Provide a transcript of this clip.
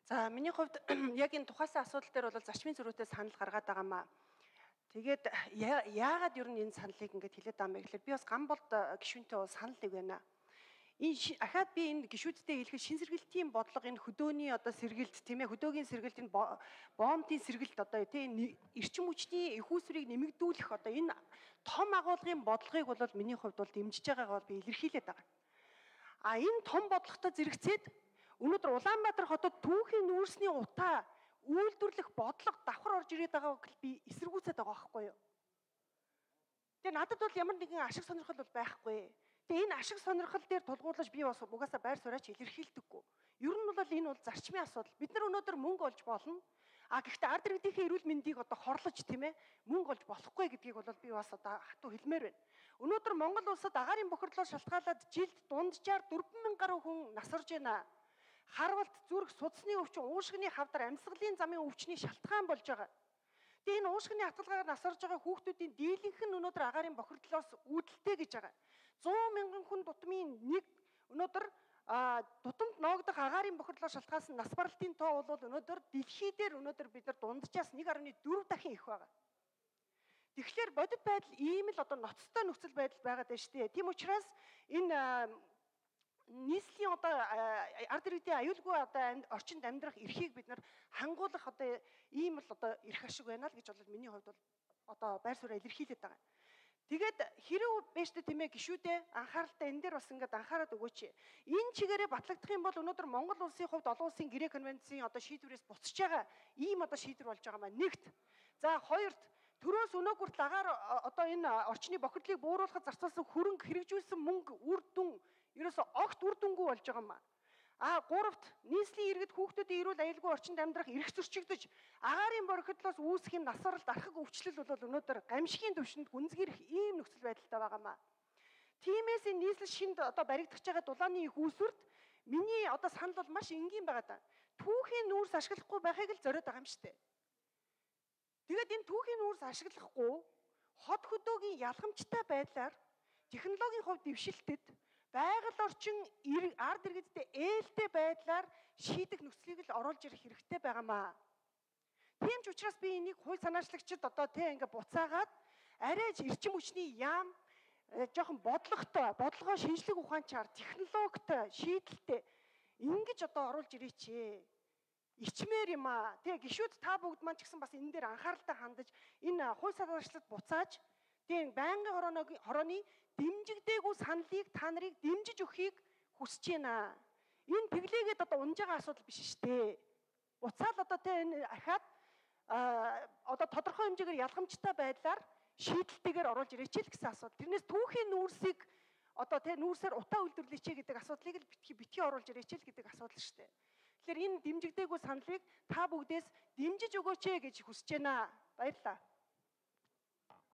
За миний хувьд яг энэ тухайсан асуудал дээр бол зарчмын зөрүүтэй санал гаргаад байгаамаа. Тэгээд яагаад ер нь энэ саналыг ингэж хэлээд байгаа юм бэ гэхээр би бас Гамболд гишүүнтэй бол санал нэг байна. Ахаад би энэ гишүүдтэй хэлэхэд шин сэргэлтийн бодлого энэ хөдөөний одоо сэргэлт тийм ээ хөдөөгийн сэргэлт энэ боомтын сэргэлт одоо тийм эрчим хүчний их үүсвэрийг нэмэгдүүлэх одоо энэ том агуулгын бодлогыг бол миний хувьд бол дэмжиж байгаагаа би илэрхийлээд байгаа. А энэ том бодлоготой зэрэгцээд өнөөдөр Улаанбаатар хотод түүхийн нүүрсний утаа үйлдвэрлэх бодлого давхар орж ирээд байгааг би эсэргүүцээд байгаа байхгүй юу. Тэгээ надад бол ямар нэгэн ашиг сонирхол бол байхгүй. Тэгээ энэ ашиг сонирхол дээр тулгуурлаж би бас угаасаа байр сууриач илэрхийлдэггүй. Ер нь бол энэ бол зарчмын асуудал. Бид нар өнөөдөр мөнгө олж болно. А гэхдээ ард иргэдийнхээ эрүүл мэндийг одоо хорлож тийм ээ мөнгө олж болохгүй гэдгийг бол би бас одоо хатуу хэлмээр байна. Өнөөдөр Монгол улсад агаарын бохирдлоо шалтгаалаад жилд дунджаар 4,000 гаруй хүн насарж байна. Харвалт зүрх судасны өвчин уушгины хавдар амьсгалын замын өвчний шалтгаан болж байгаа. Тэгээ энэ уушгины хатгалгаар насарж байгаа хүүхдүүдийн дийлэнх нь өнөөдөр агаарын бохирдлоос үүдэлтэй гэж байгаа. 100,000 хүн тутмын нэг өнөөдөр тутамд ноогдох агаарын бохирдлоо шалтгаалсан нас баралтын тоо бол өнөөдөр дэлхийдээр өнөөдөр бид нар дунджаас 1.4 дахин их байгаа. Тэгэхээр бодит байдал ийм л одоо ноцтой нөхцөл байдал байгаад байна шүү дээ. Тийм учраас энэ нийслэлийн одоо ард иргэдийн аюулгүй одоо орчинд амьдрах эрхийг бид нар хангуулах одоо ийм л одоо эрх ашиг байна л гэж бол миний хувьд бол одоо байр сууриа илэрхийлээд байгаа. Тэгээд хэрэг байж тээ тийм ээ гişүүдээ анхааралтай энэ дээр бас ингээд анхаарат өгөөч. Энэ чигээрээ батлагдах юм бол өнөөдөр Монгол улсын хувьд олон улсын гэрээ конвенцийн одоо шийдвэрээс буцаж байгаа ийм одоо шийдвэр болж байгаа маань нэгт. За хоёрт төрөөс өнөө хүртэл агаар одоо энэ орчны бохирдлыг бууруулахад зарцуулсан хөрөнгө хэрэгжүүлсэн мөнгө үр дүн ерөөсө огт үр дүнгүй болж байгаа юм. А гуравт нийслэлийн иргэд хүүхдүүдийн эрүүл аюулгүй орчинд амьдрах эрх зөрчигдөж агаарын бохирдлоос үүсэх юм насваралт архаг өвчлөл бол өнөөдөр гамшигын түвшинд гүнзгийрэх ийм нөхцөл байдалтай байгаамаа. Тиймээс энэ нийслэл шинд одоо баригдах байгаа дулааны их үүсвэрт миний одоо санал бол маш энгийн байгаа даа. Түүхийн нүүрс ашиглахгүй байхыг л зориод байгаа юм шүү дээ. Тэгээд энэ түүхийн нүүрс ашиглахгүй хот хөдөөгийн ялгамжтай байдлаар технологийн хувьд дэвшилтэд байгаль орчин ард иргэдтэй ээлтэй байдлаар шийдэх нөхцөлийг л оруулж ирэх хэрэгтэй байгаамаа. Тийм ч учраас би энийг хууль санаачлагчид одоо тийм ингээ буцаагаад арай эрчим хүчний яам жоохон бодлогоо шинжлэх ухаанчаар технологитой шийдэлтэй ингэж одоо оруулж ирээч. Ичмээр юм аа. Тэгээ гişүүд та бүгд маань ч гэсэн бас энэ дээр анхааралтай хандаж энэ хууль санаачлагчид буцааж тийм байнгын хорооны дэмжигдээгүй саналыг та нарыг дэмжиж өгөхийг хүсэж байна. Энэ тэглээгээд одоо унж байгаа асуудал биш шүү дээ. Буцаал одоо энэ ахаад одоо тодорхой хэмжээгээр ялгамжтай байдлаар шийдэлтэйгээр оруулж ирээч л гэсэн асуудал. Тэрнээс түүхийн нүүрсийг одоо нүүрсээр утаа үйлдвэрлэеч гэдэг асуудлыг л битгий оруулж ирээч л гэдэг асуудал шүү дээ. Тэгэхээр энэ дэмжигдээгүй саналыг та бүгдээс дэмжиж өгөөч гэж хүсэж байна. Баярлалаа.